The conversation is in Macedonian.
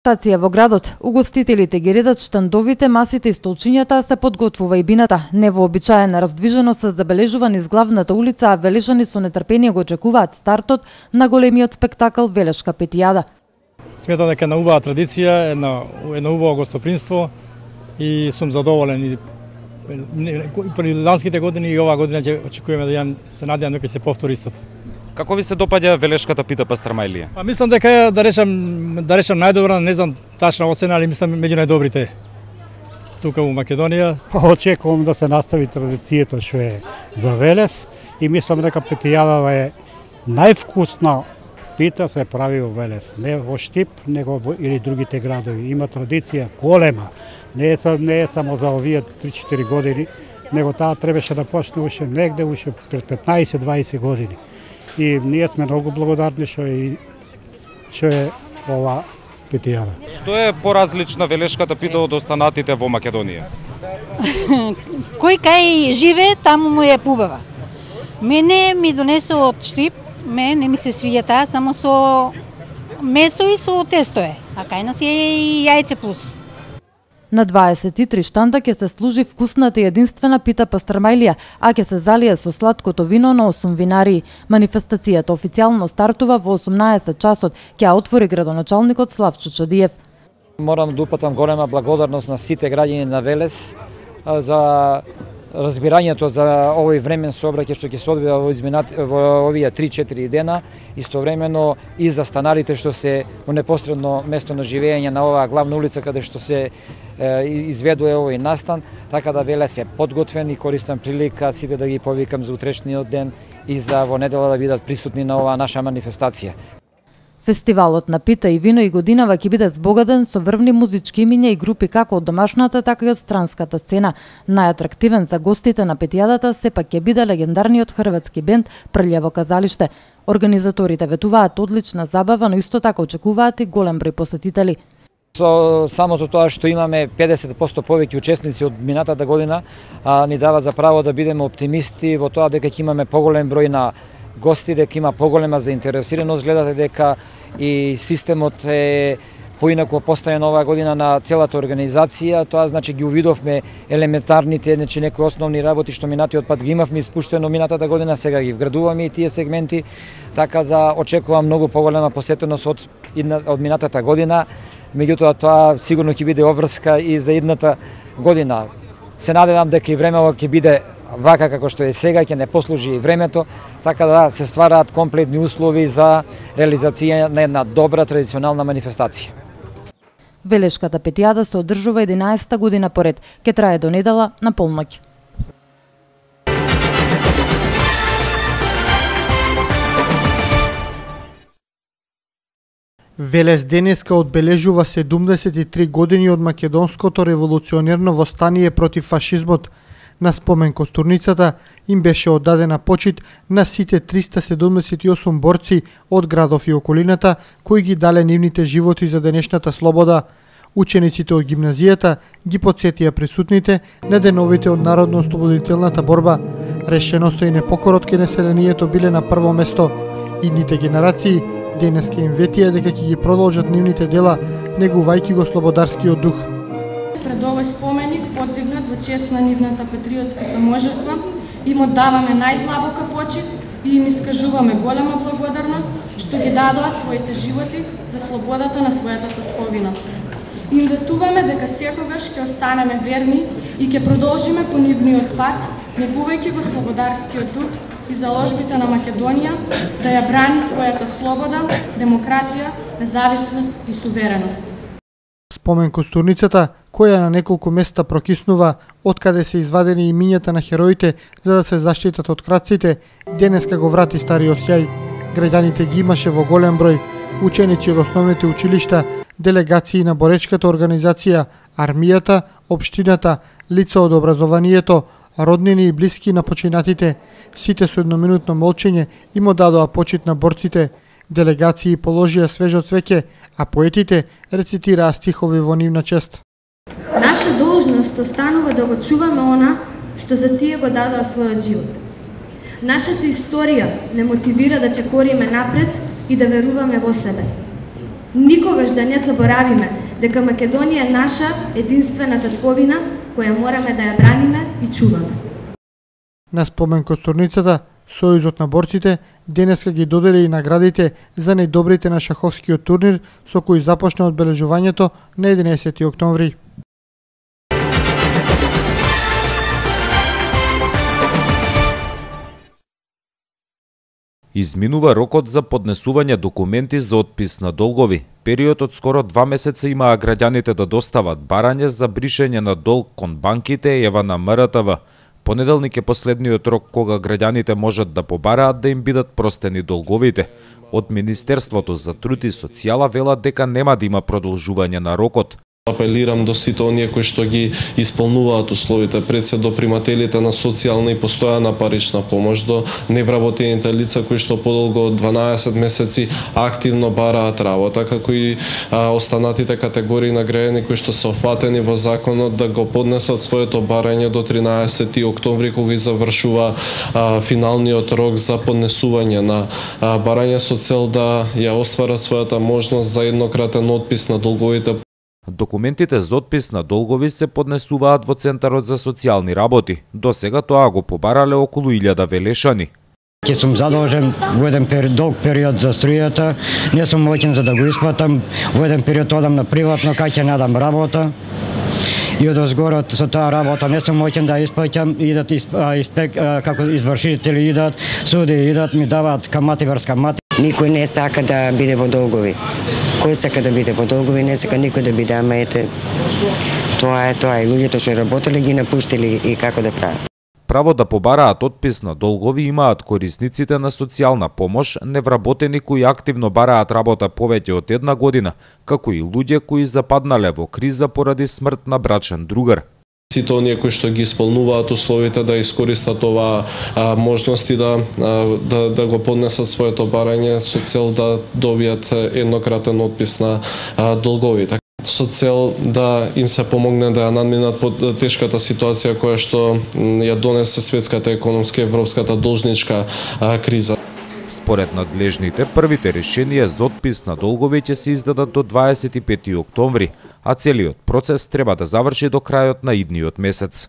Стација во градот, угостителите ги редат штандовите, масите и столчињата, а се подготвува и бината. Невообичаена раздвиженост се забележува низ главната улица, а велешани со нетрпение го очекуваат стартот на големиот спектакл Велешка петијада. Сметам дека е убава традиција, едно убаво гостопримство и сум задоволен. И при ланските години и оваа година ќе очекуваме се надевам дека ќе се повтори истото. Како ви се допаѓа Велешката пита пастрамајлија? Мислам дека да речам најдобра, не знам тачна оцена, али мислам меѓу најдобрите тука во Македонија. Очекувам да се настави традицијата што е за Велес и мислам дека петијадава е највкусна пита се прави во Велес, не во Штип, него или другите градови. Има традиција голема, не е само за овие 3-4 години, него таа требаше да почне уште негде пред 15-20 години. И ние сме многу благодарни што е ова петијада. Што е поразлична Велешката пита од останатите во Македонија? Кој кај живе, таму му е пубава. Мене ми донесе од Штип, не ми се свиѓа таа, само со месо и со тесто е, а кај нас е и јајце плюс. На 23 штанда ќе се служи вкусната и единствена пита пастрамајлија, а ќе се залие со сладкото вино на 8 винарии. Манифестацијата официјално стартува во 18 часот, ќе ја отвори градоначалникот Славчо Чадиев. Морам да упатам голема благодарност на сите граѓани на Велес за разбирањето за овој времен сообраќај што ќе се одвива во овие 3-4 дена, истовремено и за станарите што се во непосредно место на живење на оваа главна улица каде што се изведува овој настан, така да Велес е подготвен и користам прилика сите да ги повикам за утрешниот ден и за во недела да бидат присутни на оваа наша манифестација. Фестивалот на пита и вино и годинава ќе биде збогаден со врвни музички имиња и групи како од домашната, така и од странската сцена. Најатрактивен за гостите на петијадата сепак ќе биде легендарниот хрватски бенд Прљаво казалиште. Организаторите ветуваат одлична забава, но исто така очекуваат и голем број посетители. Со самото тоа што имаме 50% повеќе учесници од минатата година, ни дава за право да бидеме оптимисти во тоа дека ќе имаме поголем број на гости, дека има поголема заинтересираност. Гледате дека и системот е поинаку поставен оваа година на целата организација. Тоа значи ги увидовме елементарните, значи некои основни работи што минатиот пат ги имавме испуштено минатата година, сега ги вградуваме и тие сегменти, така да очекувам многу поголема посетеност од минатата година. Меѓутоа тоа сигурно ќе биде обврска и за идната година. Се надевам дека и времево ќе биде вака како што е сега, ќе не послужи и времето, така да се ствараат комплетни услови за реализација на една добра традиционална манифестација. Велешката петијада се одржува 11-та година поред, ќе трае до недела на полноќ. Велес денеска одбележува 73 години од македонското револуционерно востание против фашизмот. На спомен костурницата им беше оддадена почит на сите 378 борци од градов и околината кои ги дале нивните животи за денешната слобода. Учениците од гимназијата ги потсетија присутните на деновите од народно-ослободителната борба. Решеноста и непокорот кај населението биле на прво место. Идните генерации денеска им ветија дека ќе ги продолжат нивните дела, негувајќи го слободарскиот дух. Пред овој споменик подигнат во чест на нивната патриотска саможртва, им оддаваме најдлабока почит и им искажуваме голема благодарност што ги дадоа своите животи за слободата на својата татковина. Им ветуваме дека секогаш ќе останеме верни и ќе продолжиме по нивниот пат, негувајќи го слободарскиот дух и заложбите на Македонија да ја брани својата слобода, демократија, независност и сувереност. Спомен костурницата, која на неколку места прокиснува откаде се извадени имињата на хероите за да се заштитат од крадците, денеска го врати стариот сјај. Граѓаните ги имаше во голем број, ученици од основните училишта, делегации на боречката организација, армијата, општината, лица од образованието, роднини и блиски на починатите. Сите со едноминутно молчење им оддадоа почит на борците. Делегации положија свежо цвеќе, а поетите рецитираа стихови во нивна чест. Наша должност останува да го чуваме она што за тие го дадоа својот живот. Нашата историја не мотивира да чекориме напред и да веруваме во себе. Никогаш да не заборавиме дека Македонија е наша единствена татковина која мораме да ја браниме и чуваме. На спомен костурницата, Сојузот на борците денеска ги додели и наградите за најдобрите на шаховскиот турнир со кој започна одбележувањето на 11 октомври. Изминува рокот за поднесување документи за отпис на долгови. Период од скоро 2 месеца имаа граѓаните да достават барање за бришење на долг кон банките ева на МРТВ. Понеделник е последниот рок кога граѓаните можат да побараат да им бидат простени долговите. Од Министерството за труд и социјала велат дека нема да има продолжување на рокот. Апелирам до сите оние кои што ги исполнуваат условите, пред се до примателите на социјална и постојана парична помош, до невработените лица кои што подолго од 12 месеци активно бараат работа, како и останатите категории на граѓани кои што се офатени во законот да го поднесат своето барање до 13 октомври кога и завршува финалниот рок за поднесување на барање со цел да ја остварат својата можност за еднократен отпис на долговите. Документите за отпис на долгови се поднесуваат во Центарот за социјални работи. До сега тоа го побарале околу 1000 велешани. Ќе сум задолжен во еден долг период за струјата, не сум моќен за да го исплатам, во еден период одам на приватно, кај ќе надам работа. И од озгорот со таа работа не сум моќен да исплаќам, идат како извршители идат, суди идат, ми даваат камати врз камати. Никој не сака да биде во долгови. Кој сака да биде во долгови, не сака никој да биде, ама ете, тоа е. И луѓето што работеле ги напуштили и како да прават. Право да побараат отпис на долгови имаат корисниците на социјална помош, невработени кои активно бараат работа повеќе од 1 година, како и луѓе кои западнале во криза поради смрт на брачен другар. Сите оние кои што ги исполнуваат условите да искористат оваа можност и да го поднесат своето барање со цел да добијат еднократен отпис на долговите. Со цел да им се помогне да ја надминат под тешката ситуација која што ја донесе светската економска и европската должничка криза. Според надлежните, првите решенија за отпис на долгови ќе се издадат до 25 октомври, а целиот процес треба да заврши до крајот на идниот месец.